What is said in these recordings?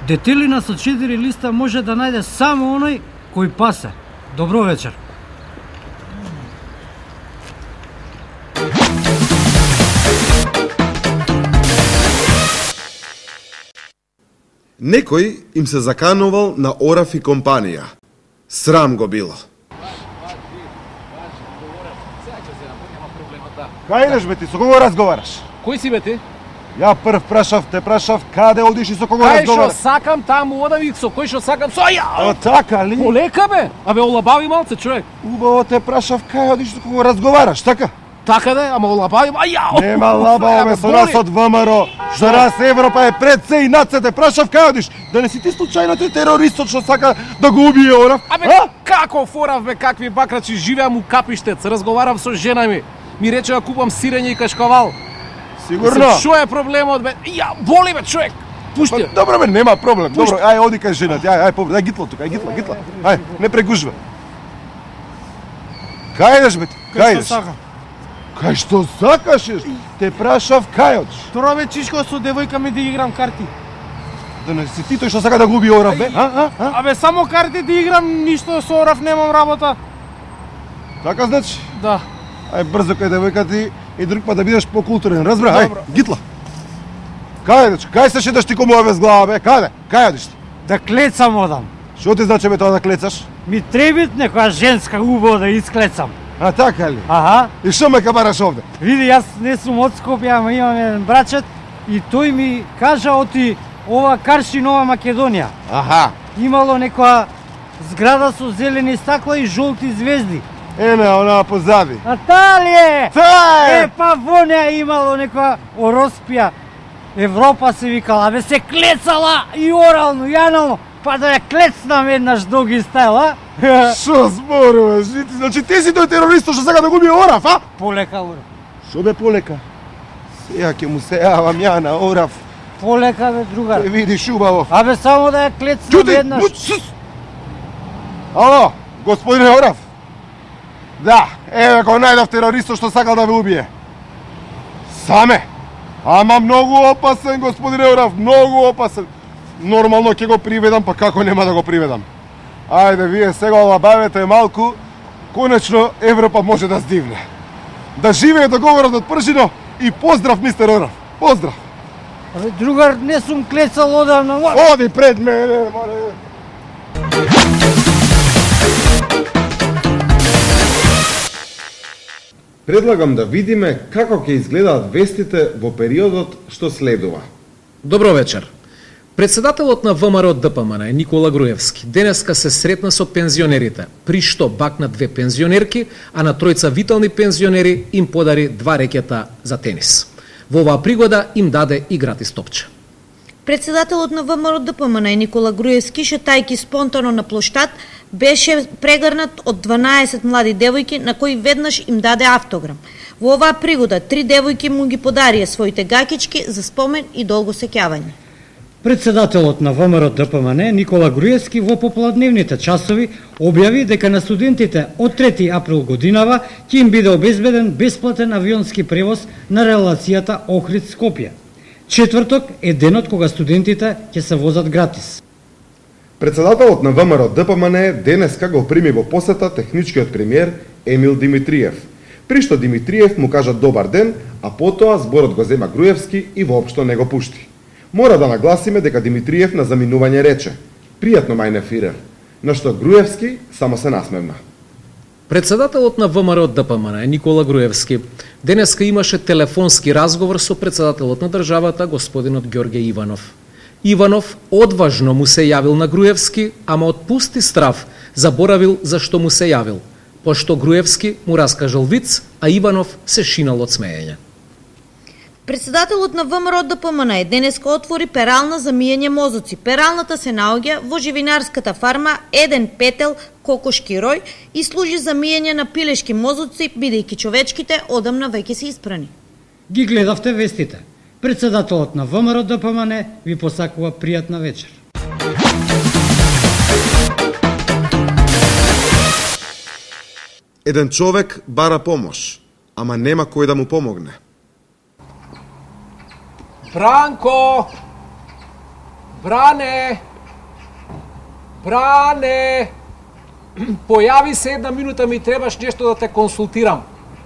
Детелина со 4 листа може да најде само оној кој пасе. Добро вечер. Некој им се заканувал на Ораф и компанија. Срам го било. Кај идеш бе ти, со кого разговараш? Кој си бе ти? Ја прв те прашав, каде одиш и со кого Кај разговараш? што сакам таму одави, со кој што сакам, со ја! А така ли? Полека бе, абе олабави малце човек. Убаво те прашав, кај одиш со кого разговараш, така? Така да, ама олабави, ја! Нема лабаво бе со нас од ВМРО. За нас Европа е пред се и над се, те прашав кај одиш. Да не си ти случајно тој терористот што сака да го убие Орав? Абе, како Орав бе, какви бакрачи, живеам у Капиштец, разговарам со жена ми. Ми рече да купам сирење и кашкавал. Сигурно? Што е проблемот бе? Ја, боли бе човек. Пушти. Добро бе, нема проблем. Добро, ај оди кај жената. Ај гитло тука, гитло. Ај, не прегужва. Кај идеш бе? Кај идеш? Кај што сакаш? Те прашав кај одиш? Тоа бе чишко со девојка ми да играм карти. Да не си ти тој што сака да губи Орав бе? Абе само карти да играм, ништо со Орав немам работа. Така значи? Да. Ај брзо кај девојка ти и друг пат да бидеш покултурен, разбра? Ај, гитла. Кај идеш? Кај се шеташ ти кому без глава бе? Каде? Кај одиш ти? Да клецам одам. Што ти значи бе тоа да клецаш? Ми требит некоја женска убаво да исклецам. А така ли? Аха. И што ме кабараш овде? Види, јас не сум од Скопје, ама имам еден брачет и тој ми кажа оти ова Карши Нова Македонија. Аха. Имало некоја зграда со зелени стакла и жолти звезди. Ене, она позади. А таа ли е? Таа е! Па во неа имало некоја Ороспија. Европа се викала, бе се клецала и орално, и анално. Па да ја клецнам еднаш доги стайл, а? Шо зборуваш? Значи ти си тој терорист што сака да губи Орав, а? Полека, Орав. Шо бе полека? Сеја ќе му се јавам ја на Орав. Полека, бе, другар. Те видиш убаво. Абе, само да ја клецнам еднаш. Ало, господине Орав. Да, еве го најдов терористот што сакал да ве убие. Саме. Ама многу опасен, господине Орав, многу опасен. Нормално ќе го приведам, па како нема да го приведам? Ајде, вие сега олабавете малку, конечно Европа може да здивне. Да живее договорот од пржино и поздрав, мистер Орав. Поздрав. Абе, другар, не сум клецал одамна. Оди пред мене, море. Предлагам да видиме како ќе изгледаат вестите во периодот што следува. Добро вечер. Председателот на ВМРО ДПМН Никола Груевски денеска се сретна со пензионерите, при што бакна 2 пензионерки, а на тројца витални пензионери им подари 2 рекета за тенис. Во оваа пригода им даде и гратис топче. Председателот на ВМРО ДПМН Никола Груевски, шетајки спонтано на плоштад, беше прегрнат од 12 млади девојки на кои веднаш им даде автограм. Во оваа пригода 3 девојки му ги подарија своите гакички за спомен и долго сеќавање. Председателот на ВМРО ДПМН Никола Груевски во попладневните часови објави дека на студентите од 3 април годинава ќе им биде обезбеден бесплатен авионски превоз на релацијата Охрид-Скопје. Четврток е денот кога студентите ќе се возат гратис. Председателот на ВМРО ДПМН денеска го прими во посета техничкиот премиер Емил Димитриев, при што Димитриев му кажа добар ден, а потоа зборот го зема Груевски и воопшто не го пушти. Мора да нагласиме дека Димитриев на заминување рече "Пријатно мајне фирер", на што Груевски само се насмевна. Председателот на ВМРО ДПМН Никола Груевски денеска имаше телефонски разговор со председателот на државата господинот Ѓорѓе Иванов. Иванов одважно му се јавил на Груевски, ама од пусти страв заборавил за што му се јавил, пошто Груевски му раскажал виц, а Иванов се шинал од смеење. Председателот на ВМРО ДПМН денеска отвори перална за миење мозоци. Пералната се наоѓа во живинарската фарма Еден Петел Кокошки рој и служи за миење на пилешки мозоци, бидејќи човечките одамна веќе се испрани. Ги гледавте вестите. Председателот на ВМРО ДПМН ви посакува пријатна вечер. Еден човек бара помош, ама нема кој да му помогне. Бранко! Бране! Бране! Појави се 1 минута, ми требаш нешто да те консултирам.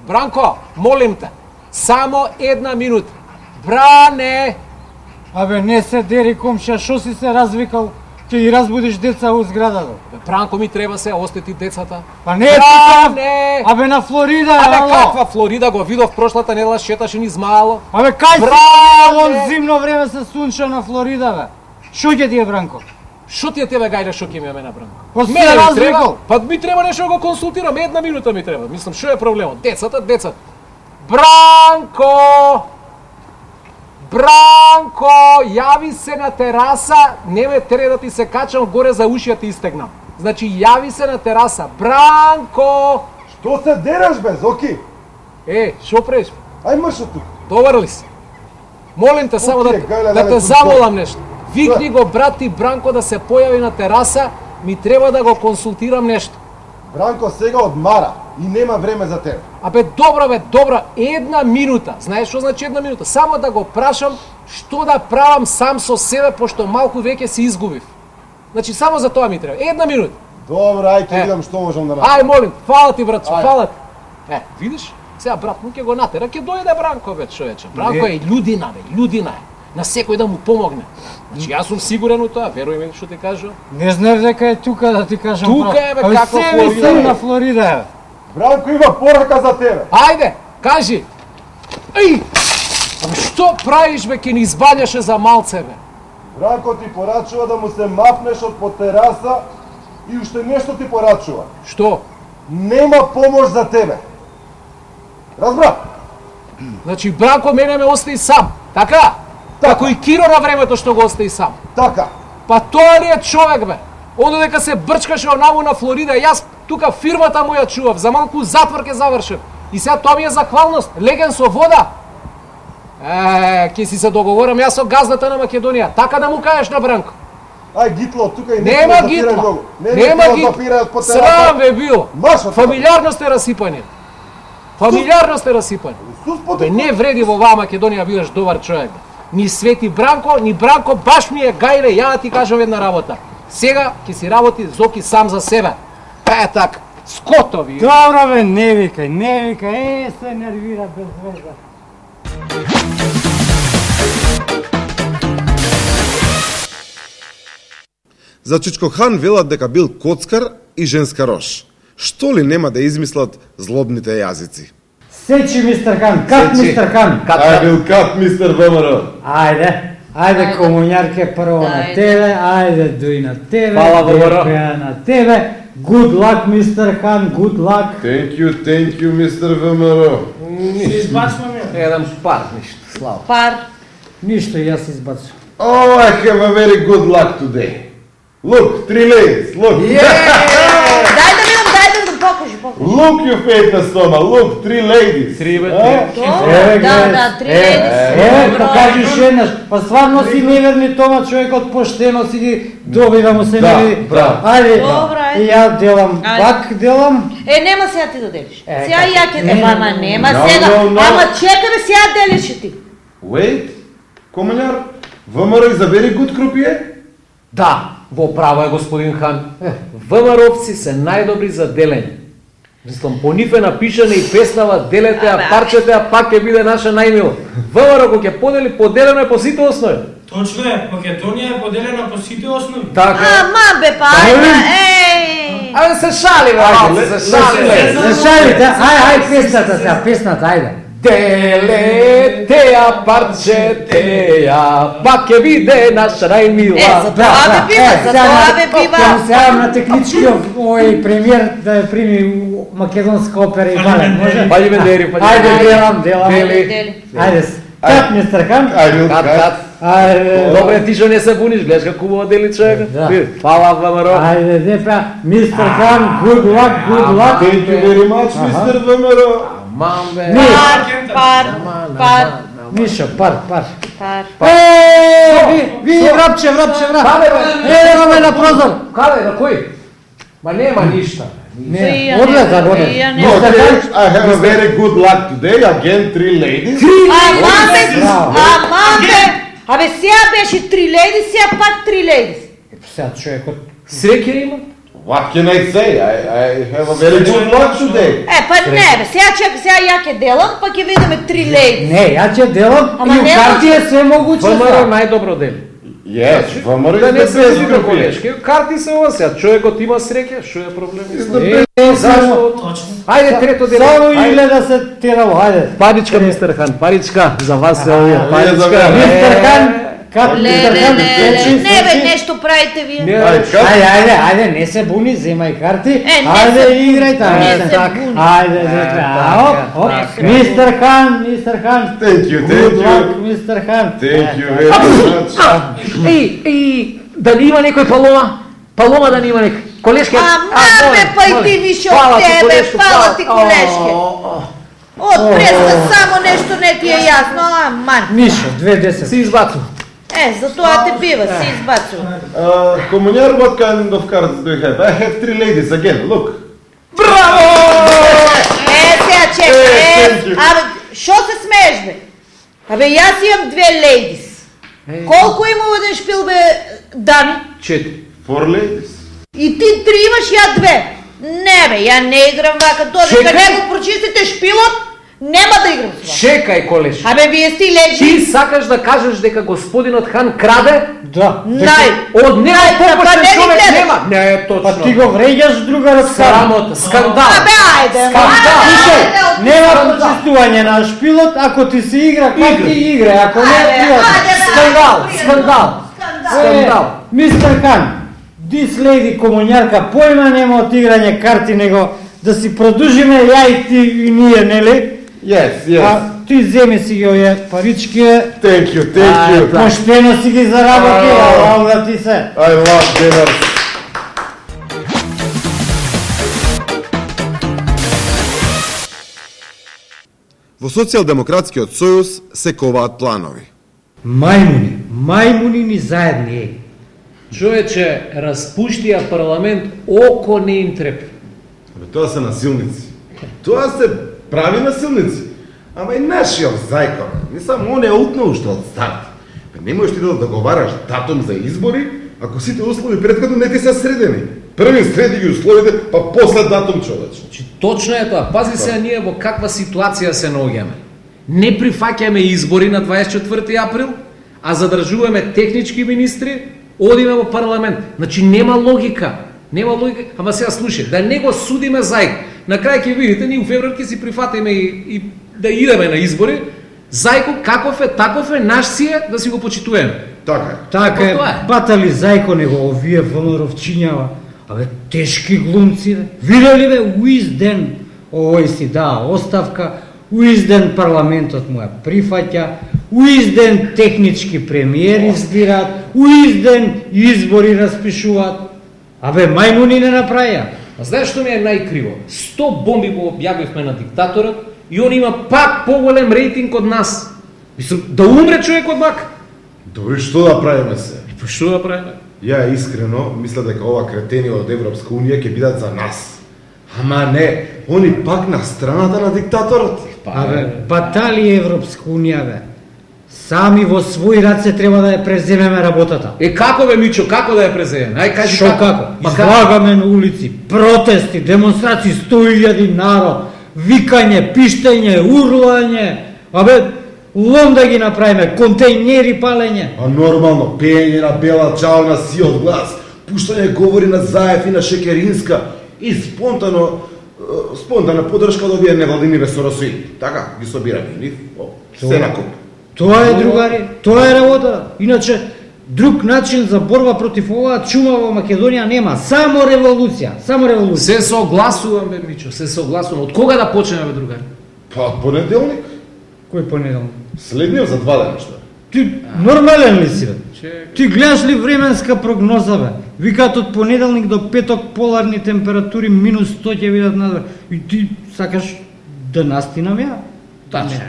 Бранко, молим те, само 1 минута. Бране! Абе, не се дери, комшија, шо си се развикал? Ќе ги разбудиш деца у зградата. Бранко, ми треба се остети децата. Па не е Бране! Абе, на Флорида, Абе, ало. каква Флорида, го видов прошлата недела, шеташе низ мало. Абе, кај Бране! си во зимно време се сунча на Флорида, бе? Шо ќе ти е, Бранко? Шо ти е тебе гајле, шо ќе ми е мене, Бранко? Па си Мене ми развикал. треба, па ми треба нешто да го консултирам, 1 минута ми треба. Мислам, шо е проблемот? Децата. Бранко! Бранко, јави се на тераса, не ме тере да ти се качам горе за уши, ти истегнам. Значи, јави се на тераса. Бранко! Што се дереш бе, Зоки? Шо преш? Ај мрш од тук. Добар ли си? Молим те само Окей, гајле, да дај те тук замолам нешто. Викни го брат ти Бранко да се појави на тераса, ми треба да го консултирам нешто. Бранко сега одмара и нема време за тебе. Абе, добро, 1 минута. Знаеш што значи 1 минута? Само да го прашам што да правам сам со себе, пошто малку веќе се изгубив. Значи, само за тоа ми треба. 1 минута. Добро, ај ќе видам што можам да направам. Ај, молим, фала ти, братче, Ај. фала ти. Видиш? Сега брат му ќе го натера, ќе дојде Бранко, бе, човече. Бранко е људина, бе, људина е. На секој да му помогне. Значи, јас сум сигурен у тоа, веруј ми што ти кажувам. Не знаеш дека е тука, да ти кажам. Тука е, бе, Абе, каква себе Флорида, сум бе. на Флорида, бе. Бранко има порака за тебе. Ајде, кажи. Еј! Абе, што правиш, бе, ќе ни избањаше за малце, бе? Бранко ти порачува да му се мафнеш од по тераса и уште нешто ти порачува. Што? Нема помош за тебе. Разбра? Значи, Бранко мене ме остави сам, така? Како и Киро на времето што го остави сам. Така. Па тоа ли е човек, бе? Оно дека се брчкаше онаму на Флорида, јас тука фирмата му ја чував, за малку затвор ќе завршев. И сега тоа ми е захвалност, леген со вода. Ќе си се договорам јас со газдата на Македонија, така да му кажеш на Бранко. Ај гитло тука и Нема гитла, нема гитла, срам бе било. Фамилиарно сте расипани. Фамилиарно сте расипани. Бе, не вреди во оваа Македонија бидеш добар човек. Ни Свети Бранко, ни Бранко баш ми е гајле, ја да ти кажам една работа. Сега ќе си работи Зоки сам за себе. Така, скотови. Добро, бе, не викај, се нервира без веза. За Чичко Хан велат дека бил коцкар и женска рош. Што ли нема да измислат злобните јазици? Сечи, мистер Хан, кат, мистер Хан. Ај бил кат, мистер ВМРО. Ајде, комуњарке прво на тебе, ајде, дуј на тебе, Фала, ВМРО. на тебе. Good luck, мистер Хан, good luck. Thank you, мистер ВМРО. Еден пар, ништо, слава. Пар. Ништо, јас избацувам. Oh, I have a very good luck today. Look, 3 ladies, look. Дај да видам, покажи. Look, you famous Toma, look, 3 ladies. 3 бе, Да, 3 леди. Покажиш еднаш. Па стварно си неверни Тома, човекот поштено си ги добива му се не види. Ајде, и ја делам, пак делам. Нема сега ти да делиш. Сега како? ја ќе ама нема No, сега. no, no. Ама чекаме сега делиш и ти. Wait, комуњар, ВМРО is a very good croupier? Да, во право е господин Хан. ВМРО-вци се најдобри за делење. Мислам, по нив е напишана и песнава "Делете, а парчете, а пак ќе биде наша најмила". ВМРО кога ќе подели, поделено е по сите основи. Точно е, Македонија е поделена по сите основи. Така е. Ама бе, па ајде, еј. Абе се шали, бе, малце, се шали. Не шалите, ај, песната сега, песната, ајде. Делете, а парчете, а пак ќе биде наша најмила. За тоа бе бива, за тоа бе бива. Ќе се јавам на техничкиот овој премиер да ја прими македонска опера и балет, може? Паѓи ме дери, паѓи. Ајде, делам. Дели. Ајде, кат, мистер Хан. Кат. Ајде, Добре, ти што не се буниш, гледаш како убаво дели човек. Да. Фала, ВМРО. ајде, депа, мистер Хан, good luck. Thank you very much, мистер ВМРО. Мам бе. Пар. Мишо, пар. Пар. Ви, врапче. Ме на прозор. Каде, на кој? Ма нема ништа. Не, одлета. No, I have a very good luck today, again 3 ladies. Ама бе, Абе сега беше 3 леди, сега пак 3 леди. Сега човекот Среќа има? What can I say? I have a very good luck today. Па не бе, сега ја ќе делам, па ќе видиме 3 леди. не, ја ќе делам Ама и у не карти е се могуче. ВМРО најдобро дели. Yes, ВМРО Да is не the се best изига company. колешки, карти се ова сега, човекот има среќа, што е проблемот? Зашто? Точно. Ајде трето дело. Само Ајде. изгледа се тераво, ајде. Паричка, мистер Хан, паричка, за вас се овие, за паричка. мене. Мистер Хан, как мистер Хан? Не бе, нешто правите вие. Ајде, не се буни, земај карти. не Ајде, се играј таму. не се Така. буни. Ајде, Мистер Хан, Thank you, Good thank luck, you. Мистер Хан. Thank you very much. Ей, дали има некој Палома? Палома да не има некој. Колешке. Ама бе, па и ти више од тебе, фала ти колешке. Од преска само нешто не ти е јасно, аман. Мишо, 2-10. Се избацу. Затоа те бива, се избацува. Комуњар, what kind of cards do you have? I have 3 ladies again, look. Сега thank чекай, you. абе, шо се смееш бе? Абе, јас имам 2 лейдис. Колку има еден шпил бе, Дани? 4. 4 ladies. И ти 3 имаш, ја 2. Не бе, ја не играм вака, додека Чекај. не го прочистите шпилот, нема да играм с вас. Чекај, колеш. Абе, вие сте Ти лежи. сакаш да кажеш дека господинот Хан краде? Да. Од него па попошен не ги човек гледаш. нема. Не е точно. Па ти го вреѓаш другарот Срамота, скандал. Абе, ајде, Скандал. ајде, Нема Скандал. почистување на шпилот, ако ти се игра, как ти игра, ако не е пријатно. Скандал, скандал. Скандал. Мистер Хан, this lady комуњарка појма нема од играње карти, него да си продужиме ја и ти и ние, нели? Yes, yes. А ти земи си ги овие парички, Thank you. поштено си ги заработи, ала ти се. I love dinners. Во Социјалдемократскиот сојуз се коваат планови. Мајмуни ни заедни, еј. Човече, распуштија парламент, око не им трепи. Тоа се насилници. Тоа се прави насилници. Ама и нашиот зајко, не само он е утнал уште од старт. Не можеш ти да договараш датум за избори, ако сите услови претходно не ти се средени. Први среди ги условите, па после датум човече. Значи, точно е тоа. Пази се ние во каква ситуација се наоѓаме. Не прифаќаме избори на 24 април, а задржуваме технички министри, одиме во парламент. Значи нема логика. Нема логика. Ама сега слушај, да не го судиме зајк. На крај ќе видите, ние у февруар ќе си прифатиме и да идеме на избори. Зајко каков е, таков е, наш си е, да си го почитуваме. Така е. Така е, Тоа е. батали зајко него овие ВМРовчињава. Абе, тешки глумци, бе. Видели бе, уизден овој си даа оставка, уизден парламентот му ја прифаќа, уизден технички премиери избираат, уизден избори распишуваат. Абе, мајмуни не направија. А знаеш што ми е најкриво? 100 бомби го објавивме на диктаторот и он има пак поголем рейтинг од нас. Мислам, да умре човек од мак. Добре, што да правиме се? Па што да правиме? Ја искрено мисля дека ова кретени од Европска Унија ќе бидат за нас. Ама не, они пак на страната на диктаторот. Абе, батали Европска Унија, бе. Сами во своји раце треба да ја преземеме работата. Како бе, Мичо, како да ја преземеме? Ај кажи Шо како? Па Излагаме на улици, протести, демонстрации, 100.000 народ, викање, пиштење, урлање, абе, лом да ги направиме, контејнери палење. А нормално, пеење на Бела Чао на сиот глас, пуштање говори на Заев и на Шекеринска и спонтана подршка од овие невладини ресоросои. Така, ги собираме нив, се на куп. Тоа е, другари, тоа е работа. Иначе, друг начин за борба против оваа чума во Македонија нема. Само револуција, само револуција. Се согласувам, бе, Мичо, се согласувам. Од кога да почнеме, бе, другари? Па од понеделник, Кој понеделник? следниот за 2 дена што? Ти нормален ли си, бе? Чекај. Ти гледаш ли временска прогноза, бе? Викаат од понеделник до петок поларни температури минус 100 ќе видат надвор. И ти сакаш да настинам ја? Тачно.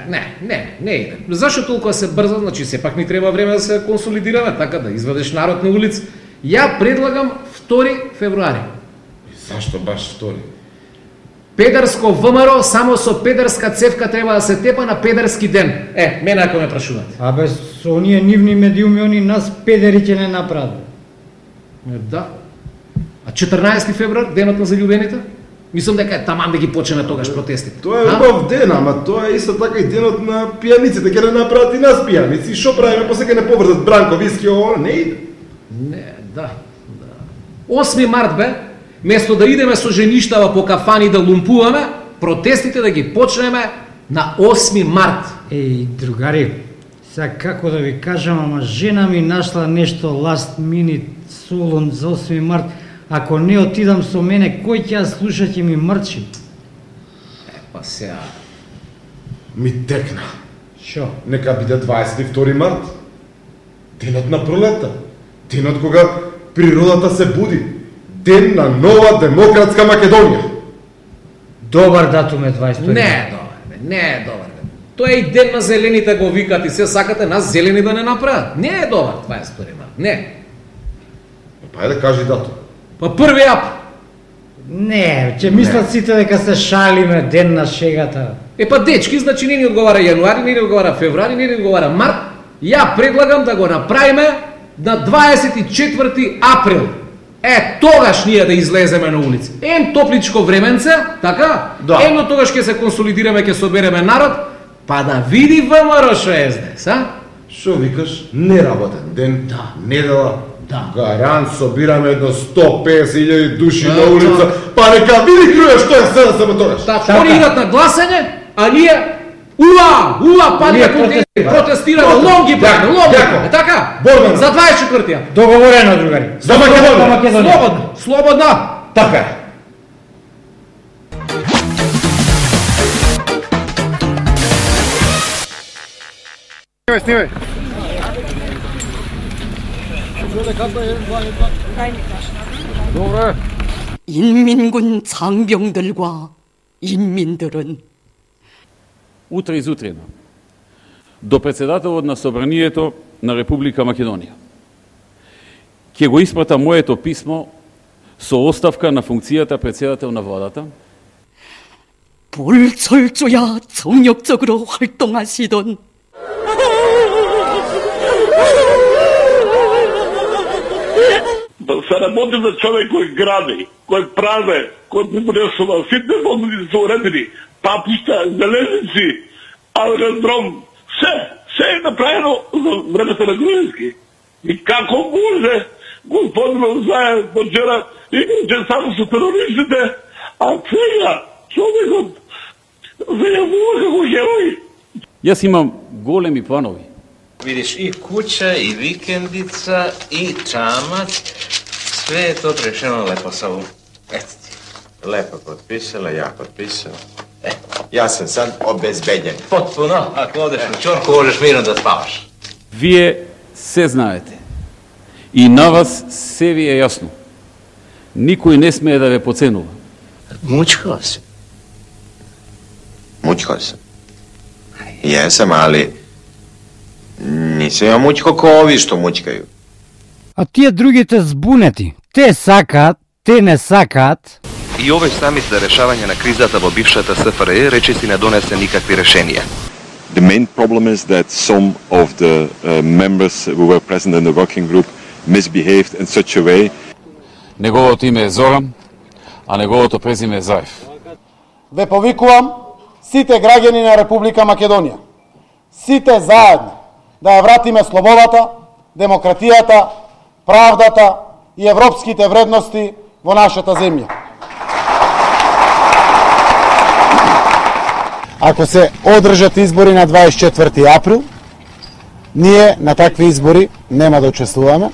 Не иде. Зашто толку се брза? Значи сепак ни треба време да се консолидираме, така да извадеш народ на улица. Ја предлагам 2 февруари. Зашто баш втори? Педарско ВМРО само со педарска цевка треба да се тепа на педарски ден. Мене ако ме прашувате. Абе, со оние нивни медиуми, они нас педери ќе не направат. Да. А 14 февруар, денот на заљубените? Мислам дека е таман да ги почнеме тогаш протестите. Тоа е убав ден, ама тоа е исто така и денот на пијаниците, ќе не направат и нас пијаници. Шо правиме, после ќе не поврзат бранко, виски, ово, не иде. Не, да. 8 март бе, место да идеме со жеништава по кафани да лумпуваме, протестите да ги почнеме на 8 март. Еј, другари, сега како да ви кажам, ама жена ми нашла нешто last minute солон за 8 март. Ако не отидам со мене, кој ќе ја слуша, ќе ми мрчи? Па сега... Ми текна. Шо? Нека биде 22 март. Денот на пролета. Денот кога природата се буди. Ден на нова демократска Македонија. Добар датум е 22. Не е добар, бе, не е добар. Бе. Тоа е и ден на зелените го викат и се сакате нас зелени да не направат. Не е добар 22 март, не. Па ајде кажи датум. Па 1 ап. Не, ќе мислат сите дека се шалиме, ден на шегата. Па дечки, значи не ни одговара јануари, не ни одговара февруари, не ни одговара март. Ја предлагам да го направиме на 24 април. Тогаш ние да излеземе на улица. Топличко временце, така? Да. Тогаш ќе се консолидираме, ќе собереме народ, па да види ВМРО шо е СДС, а? Шо викаш? Неработен ден, Да. недела. Да. Гарант собираме до 150.000 души на улица, па нека види Груев што е СДС тогаш. Така, они идат на гласање, а ние панија протестираме, лонги правиме, така? Борбено. За 24-тија. Договорено, другари. За Македонија. Слободно. Така е. Снимај. 인민군 장병들과 인민들은 утре изутрено до председателот на Собранието на Република Македонија. Ќе го испрата моето писмо со оставка на функцијата председател на владата. 불철조야 정력적으로 활동하시던 се работи за човек кој гради, кој праве, кој припресува, сите фондови се уредени, папишта, железници, аеродром, се е направено за времето на Груевски. И како може господинот Заев почера играче само со терористите, а сега човекот се јавува како герој. Јас имам големи планови. Видиш, и куќа, и викендица, и чамаc, sve je to rešeno lepo sa ovom. Eto ti, lepo potpisala, ja potpisala. Ja sam sad obezbedjen. Potpuno, ako odeš u čorku, možeš mirno da spavaš. Вие се знаете. И на вас се ви е јасно. Никој не смее да ве поценува. Mučkao si. Mučkao sam. Jesam, ali nisam ja mučko ko ovi što mučkaju. А тие другите збунети, те сакаат, те не сакаат. И овој самит за решавање на кризата во бившата СФРJ речиси не донесе никакви решенија. The main problem is that some of the members who were present in the working group misbehaved in such a way. Неговото име е Зоран, а неговото презиме е Заев. Ве повикувам сите граѓани на Република Македонија, сите заедно да ја вратиме слободата, демократијата, правдата и европските вредности во нашата земја. Ако се одржат избори на 24 април, ние на такви избори нема да учествуваме.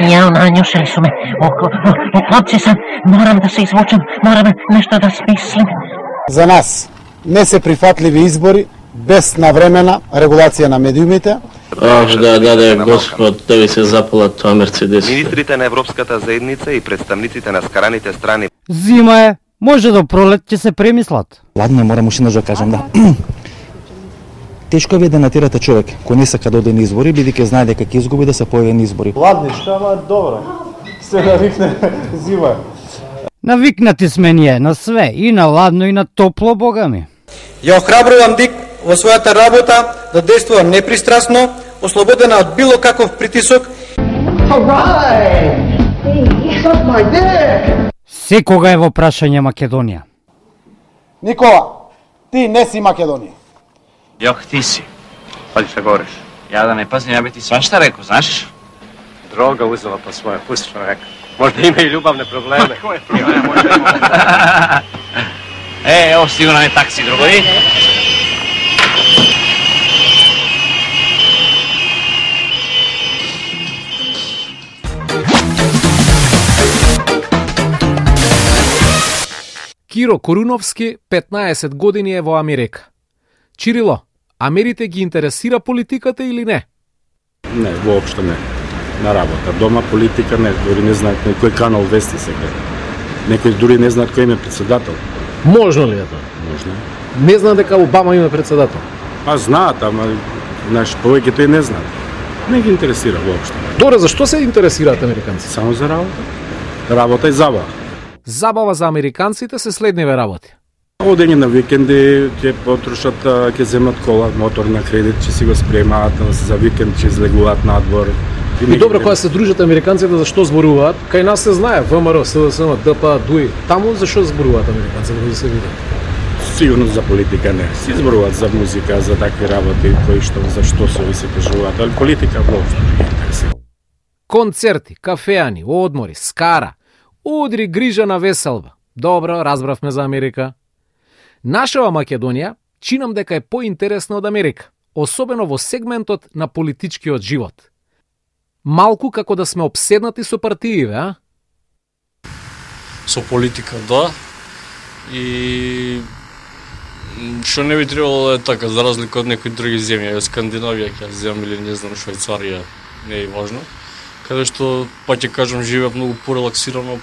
Ја, нањушили су ме. Хлапци сам, морам да се извучам, морам нешто да смислим. За нас не се прифатливи избори без навремена регулација на медиумите. Да, Господ, да ви се запала тоа Мерцедес. Министрите на Европската заедница и представниците на скараните страни. Зима е, може до пролет ќе се премислат. Ладно, морам уште да кажам, да. Тешко е да натирате човек кој не сака да оде на избори, бидејќи знае дека ќе изгуби да се појави на избори. Ладничко, ама добро. Се навикне зима. Навикнати сме ние на све, и на ладно и на топло, бога ми. Ја охрабрувам ДИК во својата работа да действува непристрасно, ослободена од било каков притисок. Секога е во прашање Македонија. Никола, ти не си Македонија. Јох, ти си. Пази што говориш. Ја да не пазим, ја би ти свашта реко, знаеш? Дрога узела по своја, пусти што река. Можда има и љубавне проблеми. Кој проблеми може има? Ево сигурно е такси, другари. Киро Коруновски 15 години е во Америка. Чирило, Америте ги интересира политиката или не? Не, воопшто не. На работа. Дома политика не, дори не знаат на кој канал вести се гледа. Некои дури не знаат кој им е председател. Можно ли е тоа? Можно. Не знаат дека Обама има председател? Па знаат, ама знаеш, повеќето и не знаат. Не ги интересира воопшто. Добре, зашто се интересираат американци? Само за работа. Работа и забава. Забава за американците се следниве работи. Одење на викенди ќе потрошат, ќе земат кола, мотор на кредит, ќе си го спремаат за викенд, ќе излегуваат надвор. И добро, кога се дружат американците, зашто зборуваат? Кај нас се знае, ВМРО, СДСМ, ДП, ДУИ. Таму зашто зборуваат американците, да се видат? Сигурно за политика не. Си зборуваат за музика, за такви работи, кои што, зашто се се кажуваат, али политика воопшто не ги интересира. Концерти, кафеани, одмори, скара, удри грижа на веселба. Добро, разбравме за Америка. Нашава Македонија чинам дека е поинтересна од Америка, особено во сегментот на политичкиот живот. Малку како да сме обседнати со партииве, а? Со политика, да. И што не би требало да е така, за разлика од некои други земји, Скандинавија, ќе земам или не знам, Швајцарија, не е важно, каде што, па ќе кажам, живеат многу порелаксирано,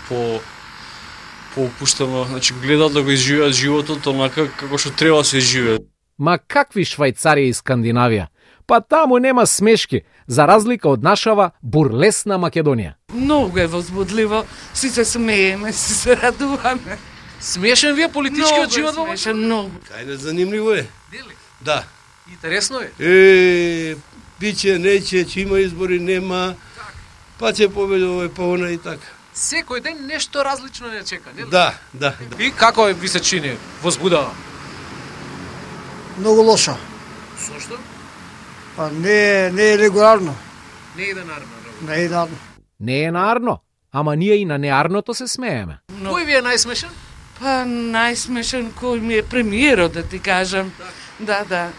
поопуштено, значи гледаат да го изживеат животот онака како што треба да се живее. Ма какви Швајцарија и Скандинавија? Па таму нема смешки, за разлика од нашава бурлесна Македонија. Многу е возбудливо, си се смееме, си се радуваме. Смешен ви е политичкиот живот во Македонија? Многу. Кај занимливо е. Дели? Да. Интересно е? Биче, нече, че има избори, нема, па ќе победува па она и така. Секој ден нешто различно не чека, нели? Да, да. И како ви се чини? Возбудава? Многу лошо. Зошто? Па не е регуларно. Не е денарно. Не е денарно. Не е нарно, ама ние и на неарното се смееме. Кој ви е најсмешен? Па најсмешен кој ми е премиерот, да ти кажам. Да.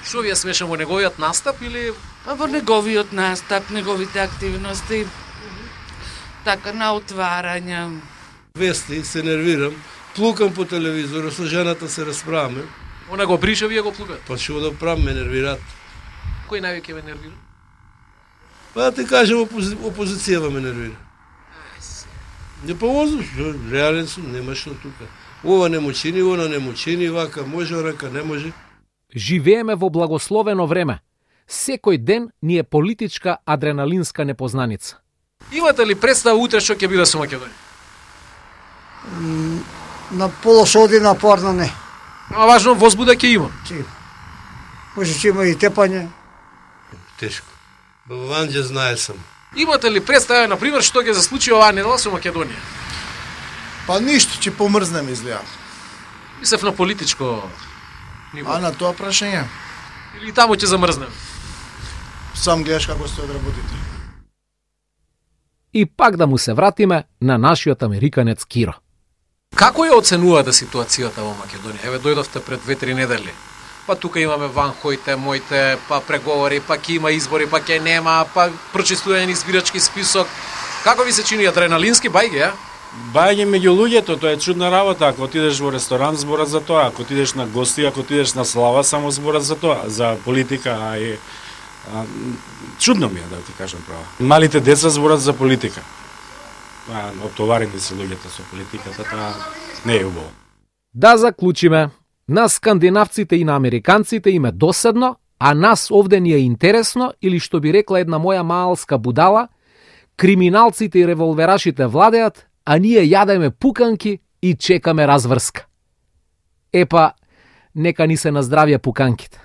Што ви е смешен во неговиот настап или? Па во неговиот настап, неговите активности. Така на отварања. Вести, се нервирам, плукам по телевизорот, со жената се расправаме. Она го бриша, вие го плукат? Па што да правам, ме нервираат. Кој највеќе ме нервира? Па да ти кажем, опозицијава ме нервира. Не повозу, реален сум, нема што тука. Ова не му чини, она не му чини, вака може, рака не може. Живееме во благословено време. Секој ден ни е политичка адреналинска непознаница. Имате ли представа утре што ќе биде со Македонија? На полоша одина парна не. А важно возбуда ќе има. Може ќе има и тепање. Тешко. Баванџе знае сам. Имате ли представа, например, што ќе се случи оваа недела со Македонија? Па ништо, ќе помрзнем изгледа. Мислев на политичко ниво. А на тоа прашање? Или таму ќе замрзнем? Сам гледаш како се одработите. И пак да му се вратиме на нашиот американец Киро. Како ја оценувате ситуацијата во Македонија? Еве дојдовте пред 2-3 недели. Па тука имаме ванхоите, моите, па преговори, па ќе има избори, па ќе нема, па прочистување избирачки список. Како ви се чини адреналински бајге, а? Бајање меѓу луѓето, тоа е чудна работа. Ако отидеш во ресторан, зборат за тоа. Ако отидеш на гости, ако отидеш на слава, само зборат за тоа, за политика. Чудно ми е, да ти кажам право. Малите деца зборат за политика. Оптоварени се луѓето со политиката, тоа не е убаво. Да заклучиме. На скандинавците и на американците им е доседно, а нас овде ни е интересно, или што би рекла една моја маалска будала, Криминалците и револверашите владеат, а ние јадеме пуканки и чекаме разврска. Епа, нека ни се наздравија пуканките.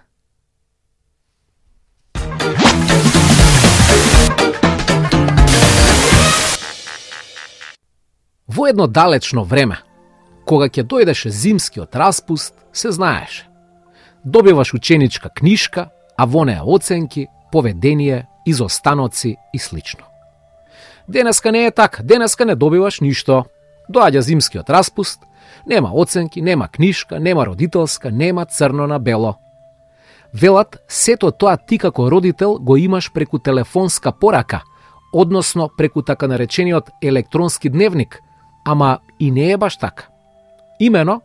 Во едно далечно време, кога ќе дојдеше зимскиот распуст, се знаеше. Добиваш ученичка книшка, а во неа оценки, поведение, изостаноци и слично. Денеска не е така, денеска не добиваш ништо. Доаѓа зимскиот распуст, нема оценки, нема книшка, нема родителска, нема црно на бело. Велат, сето тоа ти како родител го имаш преку телефонска порака, односно преку така наречениот електронски дневник, ама и не е баш така. Имено,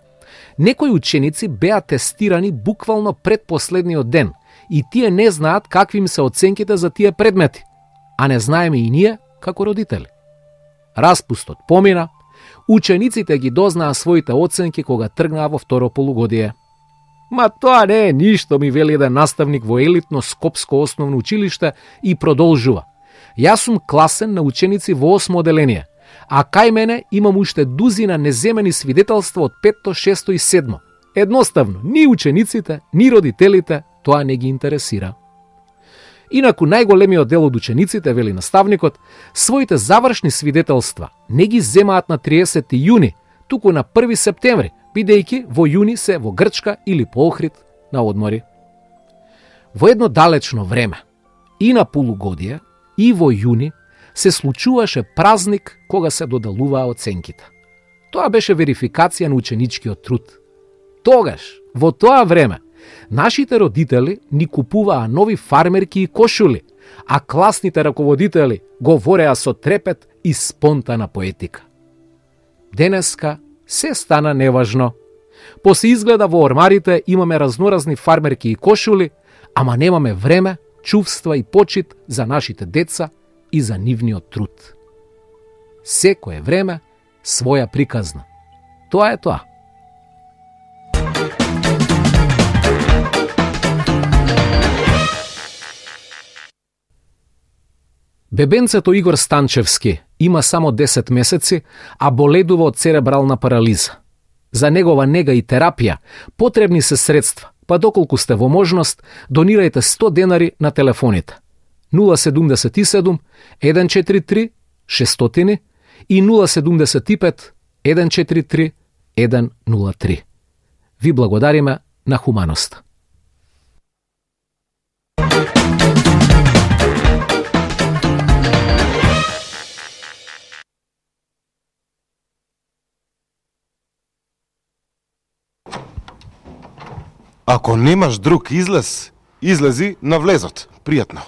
некои ученици беа тестирани буквално пред последниот ден и тие не знаат какви им се оценките за тие предмети, а не знаеме и ние како родители. Распустот помина, учениците ги дознаа своите оценки кога тргнаа во второ полугодие. Ма тоа не е ништо, ми вели еден наставник во елитно Скопско основно училиште и продолжува. Јас сум класен на ученици во 8 оделение, а кај мене имам уште дузина неземени свидетелства од 5, 6 и 7. Едноставно, ни учениците, ни родителите тоа не ги интересира. Инаку најголемиот дел од учениците, вели наставникот, своите завршни свидетелства не ги земаат на 30 јуни, туку на 1 септември, бидејќи во јуни се во Грчка или по Охрид на одмори. Во едно далечно време, и на полугодие, и во јуни, се случуваше празник кога се додалуваа оценките. Тоа беше верификација на ученичкиот труд. Тогаш, во тоа време, нашите родители ни купуваа нови фармерки и кошули, а класните раководители говореа со трепет и спонтана поетика. Денеска се стана неважно. Посе изгледа во ормарите имаме разноразни фармерки и кошули, ама немаме време, чувства и почит за нашите деца и за нивниот труд. Секое време своја приказна. Тоа е тоа. Бебенцето Игор Станчевски има само 10 месеци, а боледува од церебрална парализа. За негова нега и терапија потребни се средства, па доколку сте во можност, донирајте 100 денари на телефоните 077 143 600 и 075 143 103. Ви благодариме на хуманоста. Ако немаш друг излез, излези на влезот. Пријатно.